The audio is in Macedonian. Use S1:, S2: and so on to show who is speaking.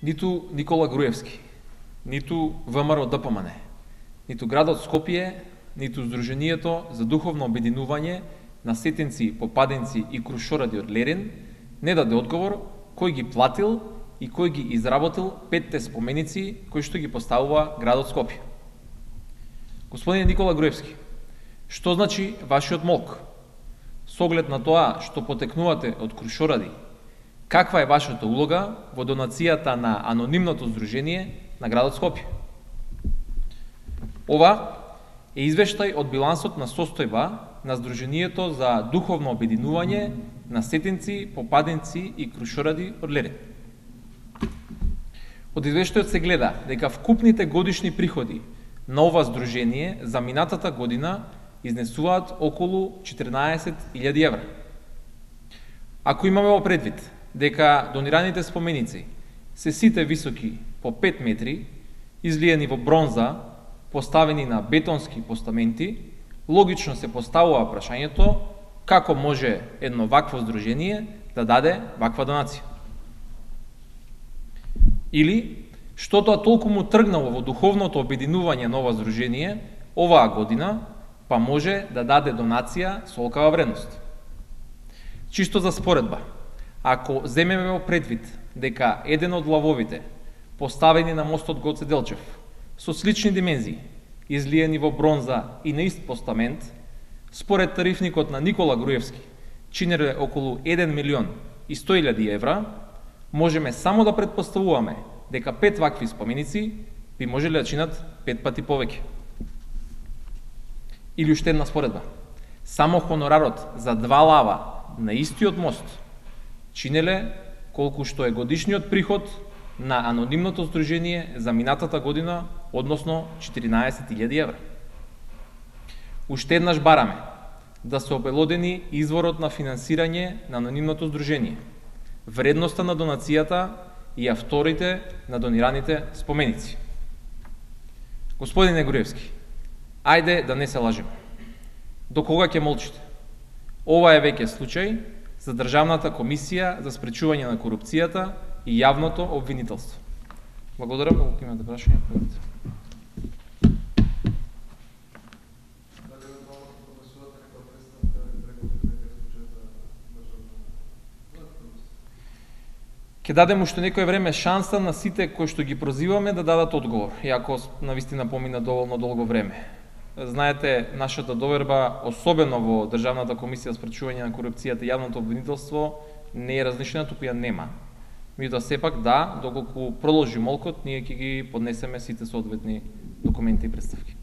S1: ниту Никола Груевски, ниту ВМРО ДПМН, ниту градот Скопје, ниту Сдруженијето за духовно обединување на сетенци, попаденци и крушоради од Лерин не даде одговор кој ги платил и кој ги изработил 5 споменици кои што ги поставува градот Скопје. Господине Никола Груевски, што значи вашиот молк? С оглед на тоа што потекнувате од крушоради, каква е вашата улога во донацијата на анонимното здружение на градот Скопје? Ова е извештај од билансот на состојба на Сдруженијето за духовно обединување на сетенци, попаденци и крушоради од Лерин. Од извештајот се гледа дека вкупните годишни приходи на ова здружение за минатата година изнесуваат околу 14.000 евра. Ако имаме во предвид дека донираните споменици се сите високи по 5 метри, излиени во бронза, поставени на бетонски постаменти, логично се поставува прашањето како може едно вакво здружение да даде ваква донација. Или, што тоа толку му тргнало во духовното обединување на ова здружение оваа година, па може да даде донација со олкава вредност. Чисто за споредба, ако земеме во предвид дека еден од лавовите поставени на мостот Гоце Делчев со слични димензии, излиени во бронза и на ист постамент, според тарифникот на Никола Груевски, чинеле околу 1.100.000 евра, можеме само да претпоставуваме дека 5 вакви споменици би можеле да чинат 5 пати повеќе. Или уште една споредба. Само хонорарот за 2 лава на истиот мост чинеле колку што е годишниот приход на анонимното здружение за минатата година, односно 14.000 евра. Уште еднаш бараме да се обелодени изворот на финансирање на анонимното здружение, вредноста на донацијата и авторите на донираните споменици. Господине Груевски, ајде да не се лажиме. До кога ќе молчите? Ова е веќе случај за Државната комисија за спречување на корупцијата и јавното обвинителство. Благодарам, ако имате прашања, поведете. Ќе дадем уште некој време шанса на сите кои што ги прозиваме да дадат одговор, иако навистина помина доволно долго време. Знаете, нашата доверба, особено во Државната комисија за спречување на корупцијата и јавното обвинителство, не е различна, туку ја нема. Меѓутоа сепак да, доколку продолжи молкот, ние ќе ги поднесеме сите соодветни документи и представки.